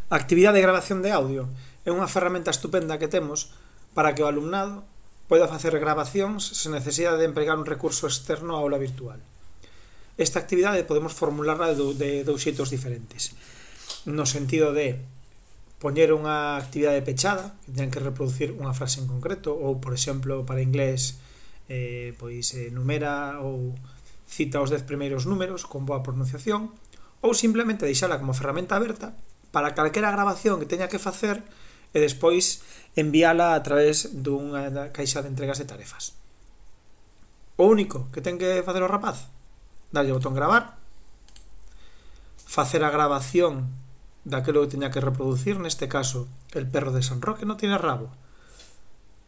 A actividade de grabación de audio é unha ferramenta estupenda que temos para que o alumnado poida facer grabacións sen necesidade de empregar un recurso externo á aula virtual. Esta actividade podemos formularla de dous xeitos diferentes, no sentido de poñer unha actividade pechada que teñan que reproducir unha frase en concreto, ou, por exemplo, para inglés numera ou cita os 10 primeiros números con boa pronunciación, ou simplemente deixala como ferramenta aberta para calquera grabación que teña que facer e despois enviala a través dunha caixa de entregas de tarefas. O único que ten que facer o rapaz, darlle o botón gravar, facer a grabación daquilo que teña que reproducir, neste caso el perro de San Roque no tiene rabo,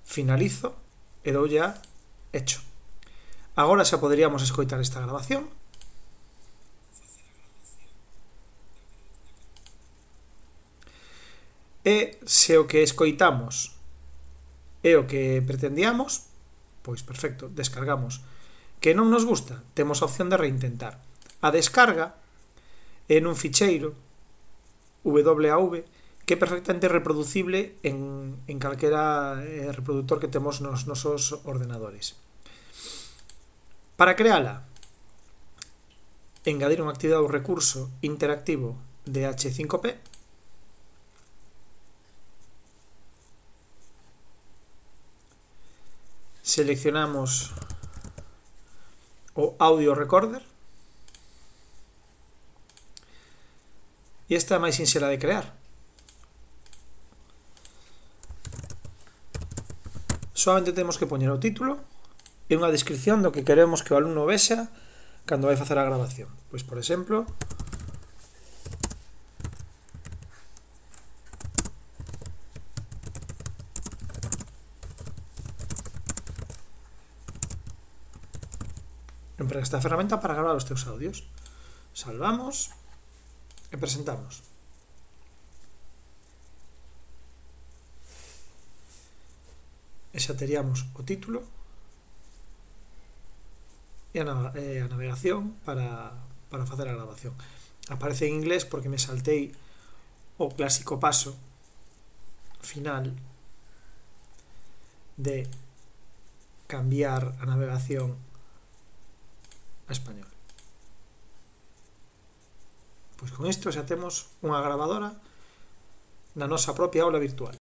finalizo e doulle a hecho. Agora xa poderíamos escoitar esta grabación. E se o que escoitamos é o que pretendíamos, pois perfecto, descargamos. Que non nos gusta, temos a opción de reintentar. A descarga é nun ficheiro WAV que é perfectamente reproducible en calquera reproductor que temos nos nosos ordenadores. Para creala, engadir unha actividade ou recurso interactivo de H5P, seleccionamos o audio recorder e esta é máis sinxela de crear. Solamente temos que poñer o título e unha descripción do que queremos que o alumno vexa cando vai facer a grabación. Pois, por exemplo, emprega esta ferramenta para gravar os teus audios. Salvamos e presentamos. E xa teríamos o título e a navegación para facer a grabación. Aparece en inglés porque me saltei o clásico paso final de cambiar a navegación a español. Pois con isto xa temos unha grabadora na nosa propia aula virtual.